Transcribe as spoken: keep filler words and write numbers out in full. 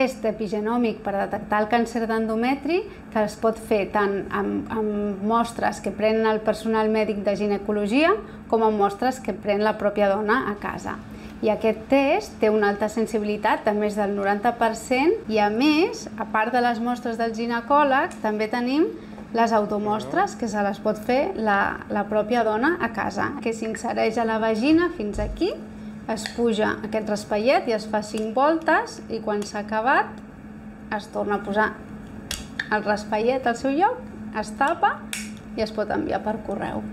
Test epigenòmic per detectar el càncer d'endometri, que es pot fer tant amb, amb mostres que pren el personal mèdic de ginecologia com amb mostres que pren la pròpia dona a casa. I aquest test té una alta sensibilitat de més del noranta per cent i, a més, a part de les mostres del ginecòleg, també tenim les automostres que se les pot fer la, la pròpia dona a casa, que s'insereix a la vagina fins aquí, es puja aquest raspallet i es fa cinc voltes i quan s'ha acabat es torna a posar el raspallet al seu lloc, es tapa i es pot enviar per correu.